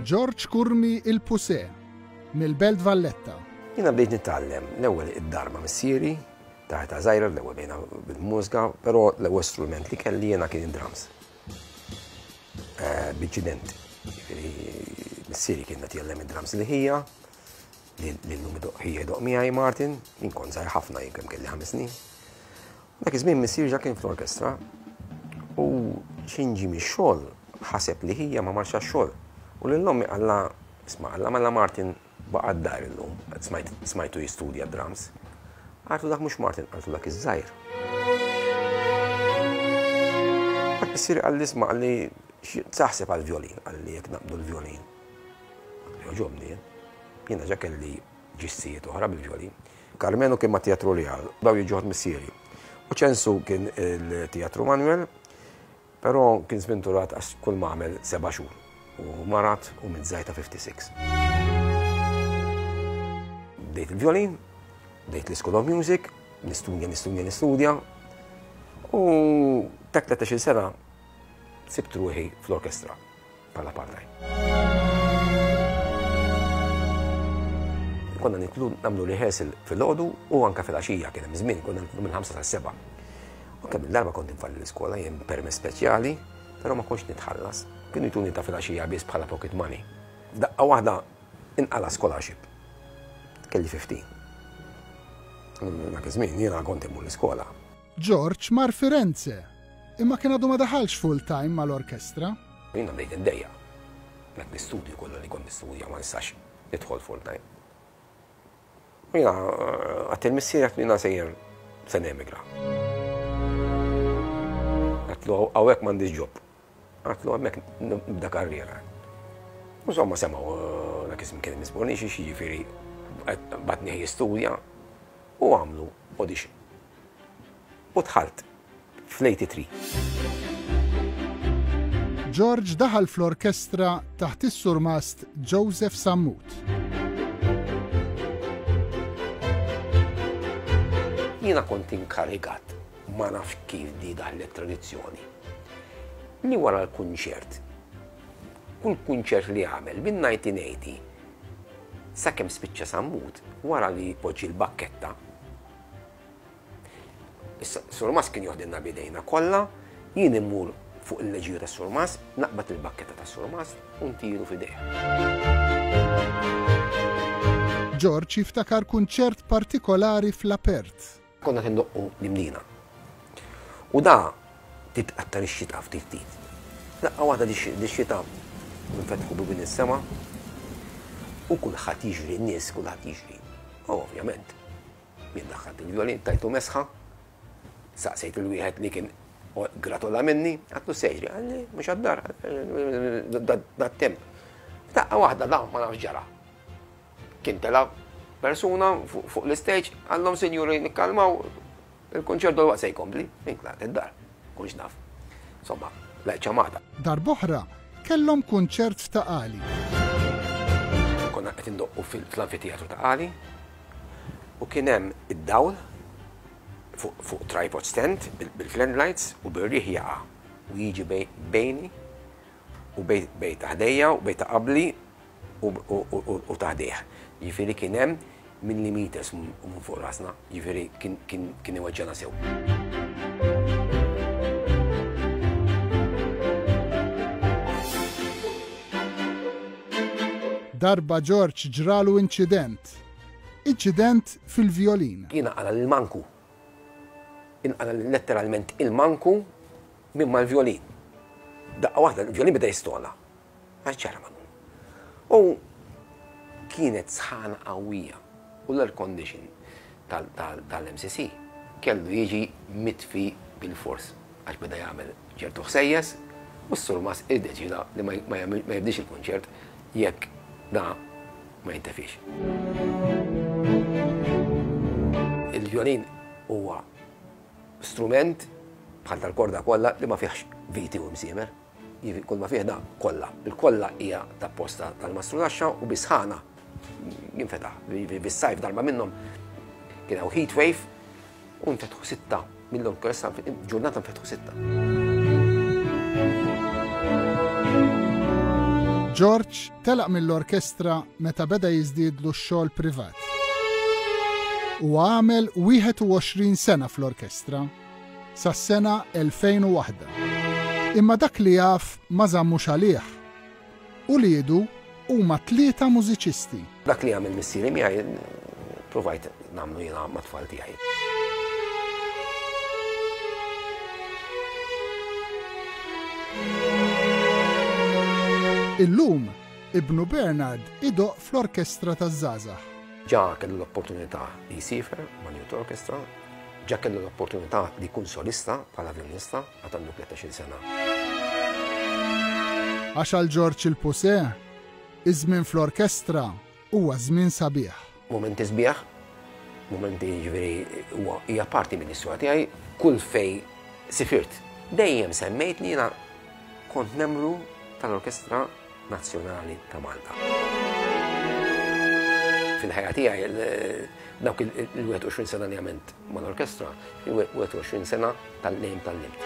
George Curmi il-Puse, mill-Belt Valletta. Jiena bdejt nitgħallem l-ewwel id-dar ma' missieri, ta' età żgħira l-ewwel bdejna bil-mużika, però l-ewwel strument li kelli jiena kien id-drums. Eh, B'inċident. Jiġifieri missieri kien qed jgħallem id-drums li ħija, li llum ħija jdoqq miegħi Martin, jien kont żgħir ħafna jien kemm kelli ħames snin. Dak iż-żmien missieri ġa kien fl-orkestra u x'ħin ġie mix-xogħol ħaseb li ħija ma marx għax-xogħol. U lil ommi qallha, isma' qallha mela Martin baqa' d-dar illum, smajtu jistudja d-drums. Qaltlu dak mhux Martin, qaltlu dak iż-żgħir. Dak missieri qalli isma' qalli taħseb għall-vjolin, qalli jekk naqbdu l-vjolin. Jogħġobni jien. Jiena ġa kelli ġissijiet oħra bil-vjolin. Karmenu kien mat-Teatru Real, daw jiġu ħadd missieri. U Ċensu kien il-Teatru Manuel, però kien sventurat għax kull ma għamel seba' xhur u marad u miet żgħir ta' 56. Bdejt il-vjolin, bdejt l-School of Music, nistudja, nistudja, nistudja. U ta' 13-il sena sibt ruħi fl-orkestra. bħala part-time. Konna nitlu nagħmlu rehearsal filgħodu u anke filgħaxija kien hemm żmien konna nitlu minn ħamsa sas-sebgħa. U kemm il-darba kont infalli l-iskola jien permess speċjali, però ma kontx nitħallas. Kienu jtuni ta' filgħaxija biss bħala pocket money. F'daqqa waħda inqala scholarship. Kelli 15. Dak iż-żmien jiena kont immur l-iskola. George mar Firenze, imma kien għadu ma daħalx full-time mal-orkestra. Jiena bdejt niddejjaq. Dak l-istudju kollu li kont nistudja ma nistax nidħol full-time. U jiena għedt lil missieri għedt jiena sejjer se nemigra. Għedtlu hawnhekk m'għandix job. Għedtlu hemmhekk nibda karriera. Insomma semgħu dak iż-żmien kien hemm Bonnici jiġifieri bagħatni jistudja u għamlu audition. U dħalt fl-83. George daħal fl-orkestra taħt is-surmast Joseph Sammut. Jiena kont inkarigat, ma nafx kif di daħlet tradizzjoni, li wara l-kunċert, kull kunċert li għamel minn 1980 sakemm spiċċa Sammut, wara li jpoġġi l-bakketta, Issa, Surmas kien joħdilna bidejna kollha, jien immur fuq il-leġiju tas-Surmas, naqbad il-bakketta tas-Surmas u ntiru f'idejh. George jiftakar kunċert partikolari fl-apert. Konna qed indoqqu l-Imdina. U da titqattar ix-xita ftit ftit. Daqqa waħda dix-xita nfetħu bibien is-sema u kulħadd jiġri, n-nies kulħadd jiġri. U ovvjament, Jien daħħalt il-vjolin, tajtu mesħa, saqsejt il-wieħed li kien gratola minni, għatlu sejri, għalli, mux għaddar, dat-temp. Daqqa waħda da, ma nafx ġara. Kien tela persuna fuq l-istage, għallhom sinjuri nikkalmaw, il-konċert dol se jkompli, inklaqt id-dar, kunx naf. Insomma, lajt ċamata. Darb'oħra, kellhom kunċert f'Ta' Qali. Konna qed indoqqu fl-anfiteatru Ta' Qali, U kien hemm id-dawl fuq, fuq tripod stand bil-flan lights u bir-riħ jaqa' u jiġi bejni u bej, bej ta' ħdejja u bej ta' qabli u, u, u, u ta' ħdejh. Jiġifieri kien hemm millimeters minn fuq rasna, jiġifieri kien, kien, kien iweġġana sew. Darba George ġralu inċident. Inċident fil-vjolin. Jiena qala' l-manku. Inqala' letteralment il-manku minn mal-vjolin. Daqqa waħda l-vjolin beda jistona. Għax ġara ma U kienet sħana qawwija u l-air condition tal-MCC kellu jiġi mitfi bil-fors għax beda jagħmel ċertu ħsejjes u s-surmas iddeċida li ma jibdix il-kunċert jekk da ma jintefiex. Il-vjolin huwa strument bħal tal-korda kollha li ma fihx viti u msiemer. Kull ma fih da kollha. Il-kollha hija ta' posta tal-mastrudaxxa u bisħana jinfetaħ. Bis-sajf darba minnhom kien hawn heat wave u nfetħu sitta mill-orkestra ġurnata nfetħu sitta. George telaq mill-orkestra meta beda jiżdiedlu x-xogħol privat. Huwa għamel 21 sena fl-orkestra, sas-sena 2001. Imma dak li jaf ma żammux għalih. Uliedu huma tlieta mużiċisti. Dak li għamel missieri miegħi provajt nagħmlu jiena mat-tfal tiegħi. Illum, ibnu Bernard idoqq fl-Orkestra taż-Żgħażagħ. Ġa kellu l-opportunità li jsiefer mal-Youth Orchestra, ġa kellu l-opportunità li jkun solista bħala vjolinista għad għandu 13-il sena. Għax għal Ġorġ il-Pusè, iż-żmien fl-orkestra huwa żmien sabiħ. Mumenti sbieħ, mumenti jiġifieri huwa hija parti mill-istorja tiegħi, kull fej sifirt. Dejjem semmejt li jiena kont membru tal-Orkestra Nazzjonali ta' Malta. Fil-ħajja tiegħi dawk il-21 sena li għamilt mal-orkestra, 21 sena tal-lejm tal-limt.